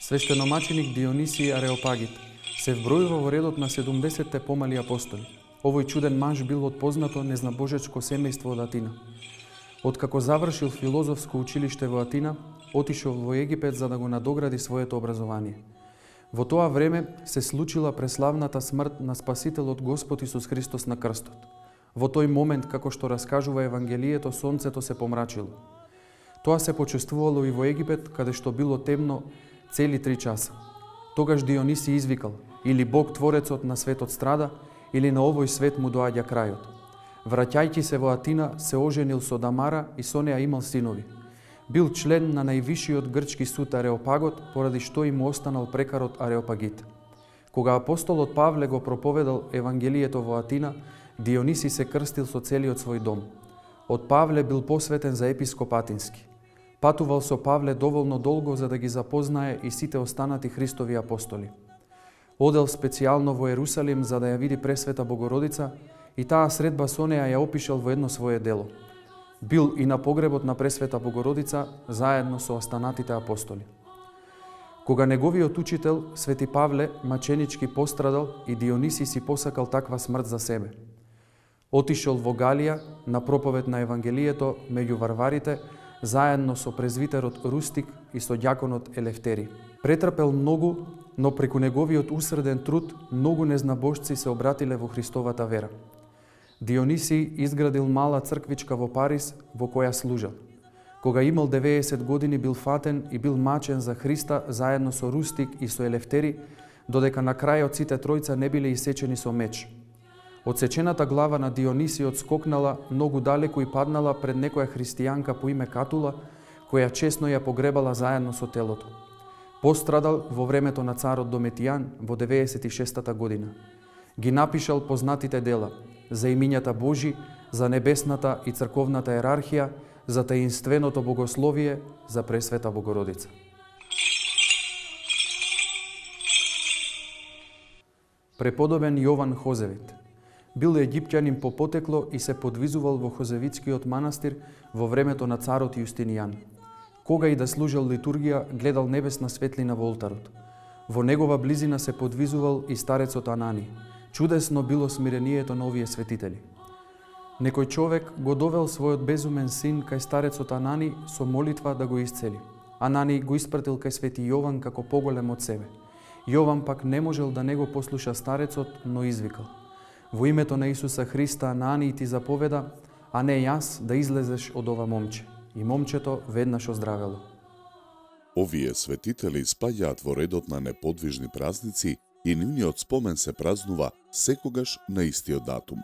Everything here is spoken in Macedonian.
Свештеномаченик Дионисий Ареопагит се вбројува во редот на 70-те помали апостоли. Овој чуден маж бил од познато незнабожечко семејство од Атина. Откако завршил филозофско училиште во Атина, отишол во Египет за да го надогради своето образование. Во тоа време се случила преславната смрт на Спасителот Господ Исус Христос на крстот. Во тој момент, како што раскажува Евангелието, сонцето се помрачило. Тоа се почувствувало и во Египет, каде што било темно цели 3 часа. Тогаш Дионисий извикал: или Бог Творецот на светот страда, или на овој свет му доаѓа крајот. Враќајќи се во Атина, се оженил со Дамара и со неа имал синови. Бил член на највишиот грчки суд Ареопагот, поради што и му останал прекарот Ареопагит. Кога апостолот Павле го проповедал Евангелието во Атина, Дионисий се крстил со целиот свој дом. Од Павле бил посветен за епископ атински. Патувал со Павле доволно долго за да ги запознае и сите останати Христови апостоли. Одел специјално во Ерусалим за да ја види Пресвета Богородица и таа средба со неа ја опишал во едно свое дело. Бил и на погребот на Пресвета Богородица заедно со останатите апостоли. Кога неговиот учител, Свети Павле, маченички пострадал и Дионисий си посакал таква смрт за себе. Отишол во Галија на проповед на Евангелието меѓу варварите, заедно со презвитерот Рустик и со ѓаконот Елефтери. Претрпел многу, но преку неговиот усреден труд многу незнабожци се обратиле во Христовата вера. Дионисий изградил мала црквичка во Париз, во која служел. Кога имал 90 години бил фатен и бил мачен за Христа заедно со Рустик и со Елефтери, додека на крајот сите тројца не биле исечени со меч. Одсечената глава на Дионисиот скокнала многу далеку и паднала пред некоја христијанка по име Катула, која чесно ја погребала заедно со телото. Пострадал во времето на царот Дометијан во 96-та година. Ги напишал познатите дела за имињата Божи, за небесната и црковната ерархија, за таинственото богословие, за Пресвета Богородица. Преподобен Јован Хозевит бил египтјанин по потекло и се подвизувал во Хозевитскиот манастир во времето на царот Јустинијан. Кога и да служел литургија, гледал небесна светлина во олтарот. Во негова близина се подвизувал и старецот Анани. Чудесно било смирението на овие светители. Некој човек го довел својот безумен син кај старецот Анани со молитва да го исцели. Анани го испратил кај свети Јован како поголем од себе. Јован пак не можел да не го послуша старецот, но извикал: во името на Исуса Христа, Анани ти заповеда, а не јас, да излезеш од ова момче. И момчето веднаш оздравело. Овие светители спаѓаат во редот на неподвижни празници и нивниот спомен се празнува секогаш на истиот датум.